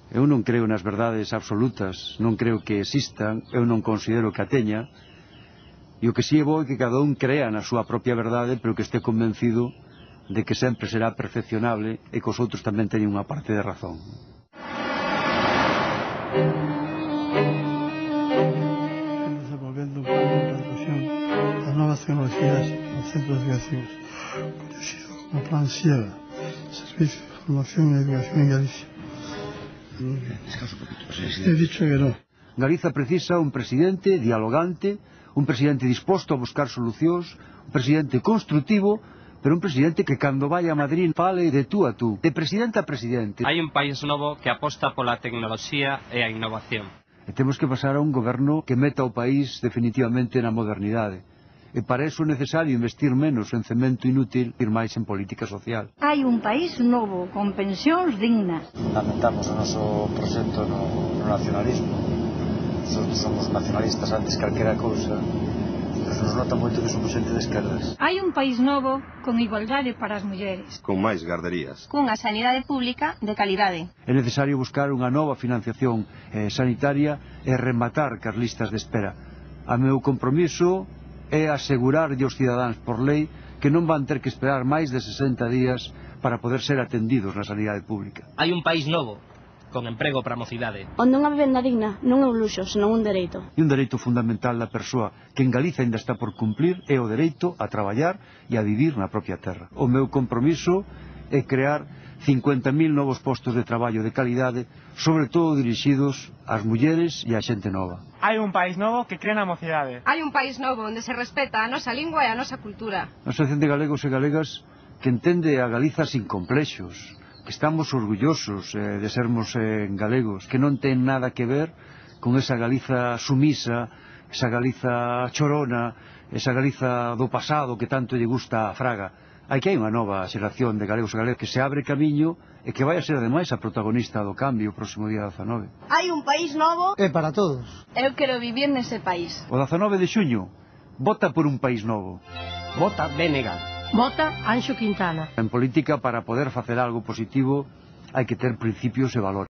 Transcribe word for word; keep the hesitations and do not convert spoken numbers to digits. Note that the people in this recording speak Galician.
Eu non creo nas verdades absolutas, non creo que existan, eu non considero que a teña, e o que si é bo é que cada un crea na súa propia verdade, pero que este convencido de que sempre será perfeccionable e que os outros tamén teñen unha parte de razón. Desenvolvendo un plan de implantación das novas tecnologías nos centros educativos, conhecido como Plan SIEGA, Servicio de Formación e Educación en Galicia. He dicho que no. Galiza precisa un presidente dialogante, un presidente disposto a buscar solucións, un presidente construtivo, pero un presidente que cando vai a Madrid fale de tú a tú, de presidente a presidente. Hai un país novo que aposta pola tecnoloxía e a innovación. E temos que pasar a un goberno que meta o país definitivamente na modernidade. E para iso é necesario investir menos en cemento inútil e ir máis en política social. Hai un país novo, con pensións dignas. Lamentamos o noso proxecto no, no nacionalismo. Nosotros somos nacionalistas antes que calquera cousa, pero nos nota moito que somos xente de esquerdas. Hai un país novo con igualdade para as mulleres. Con máis garderías. Cunha sanidade pública de calidade. É necesario buscar unha nova financiación eh, sanitaria e rematar cas listas de espera. A meu compromiso é asegurarlle aos cidadáns por lei que non van ter que esperar máis de sesenta días para poder ser atendidos na sanidade pública. Hai un país novo, con emprego para a mocidade. Onde unha vivenda digna non é un luxo, senón un dereito. E un dereito fundamental da persoa que en Galiza ainda está por cumplir é o dereito a traballar e a vivir na propia terra. O meu compromiso é crear cincuenta mil novos postos de traballo de calidade, sobre todo dirixidos ás mulleres e á xente nova. Hai un país novo que crea na mocidade. Hai un país novo onde se respeta a nosa lingua e a nosa cultura. A Asociación de Galegos e Galegas que entende a Galiza sin complexos, que estamos orgullosos eh, de sermos eh, galegos, que non ten nada que ver con esa Galiza sumisa, esa Galiza chorona, esa Galiza do pasado que tanto lle gusta a Fraga. Hai que hai unha nova xeración de galegos e galegas que se abre camiño e que vai a ser ademais a protagonista do cambio o próximo día dezanove. Hai un país novo. É para todos. Eu quero vivir nese país. O dezanove de xuño, vota por un país novo. Vota B N G. Vota Anxo Quintana. En política, para poder facer algo positivo, hai que ter principios e valores.